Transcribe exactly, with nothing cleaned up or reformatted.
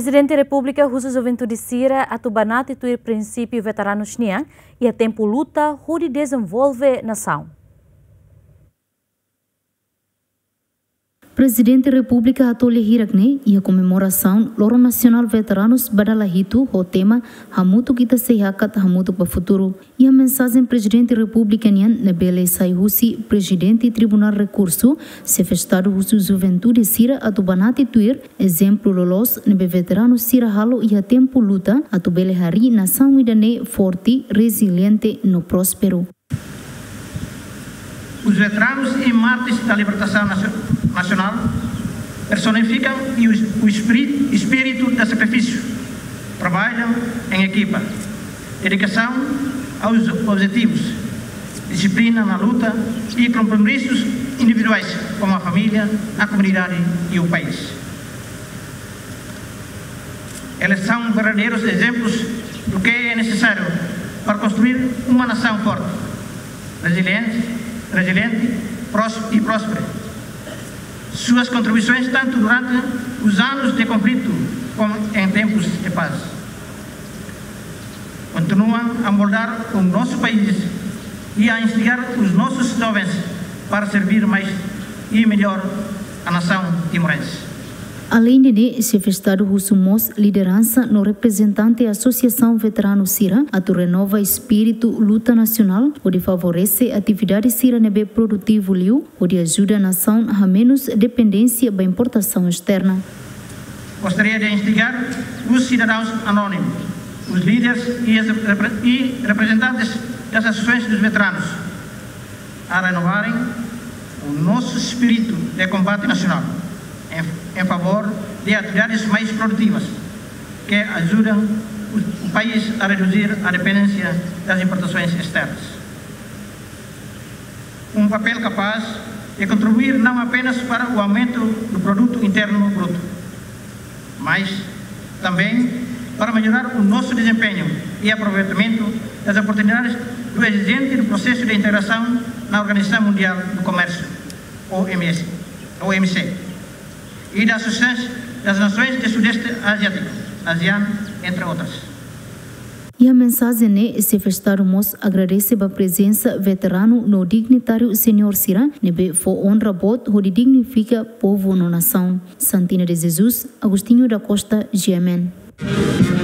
Prezidente Repúblika husu juventude sira atu banati tuir prinsípiu veteranus nian iha tempu luta hodi dezenvolve nasaun. Prezidente Repúblika hato'o lia hirak ne'e iha komemorasaun Loron Nasionál Veteranus ba dala hitu ho tema Hamutuk Ita Sei Hakat, Hamutuk ba Futuru. Iha mensajen Prezidente Repúblika nian ne'ebé lee sai husi Prezidente Tribunál Rekursu, Xefe Estadu husu juventude sira atu banati tuir ezemplu loloos ne'ebé veteranu sira halo iha tempu luta atu bele harii nasaun ida-ne'e forte, reziliente no prósperu. Os veteranos e mártires da libertação nacio-, nacional personificam o, o espírito, espírito de sacrifício, trabalho em equipa, dedicação aos objetivos, disciplina na luta e compromissos individuais com a família, a comunidade e o país. Eles são verdadeiros exemplos do que é necessário para construir uma nação forte, resiliente, resiliente prós-, e próspera. Suas contribuições, tanto durante os anos de conflito como em tempos de paz, continuam a moldar o nosso país e a instigar os nossos jovens para servir mais e melhor a nação timorense. Aleinde ne'e, Xefe Estadu husu mós lideransa no reprezentante asosiasaun veteranu sira atu renova espíritu luta nasionál hodi favorese atividade sira ne'ebé produtivu liu, hodi ajuda nasaun hamenus dependénsia ba importasaun esterna. Gostaria de instigar os cidadãos anónimos, os líderes e as repre-, e representantes das associações dos veteranos a renovarem o nosso espírito de combate nacional em, em favor de atividades mais produtivas que ajudam o, o país a reduzir a dependência das importações externas. Um papel capaz de contribuir não apenas para o aumento do produto interno bruto, mas também para melhorar o nosso desempenho e aproveitamento das oportunidades do exigente do processo de integração na Organização Mundial do Comércio, O M S, O M C, e da Associação das Nações do Sudeste Asiático, ASEAN, entre outras. Iha mensajen ne'e, Xefe Estadu mós agradese ba prezensa veteranu no dignitáriu seniór sira ne'ebé fó onra boot hodi dignifika povu no nasaun. Santina de Jesus, Agostinho da Costa, G M N.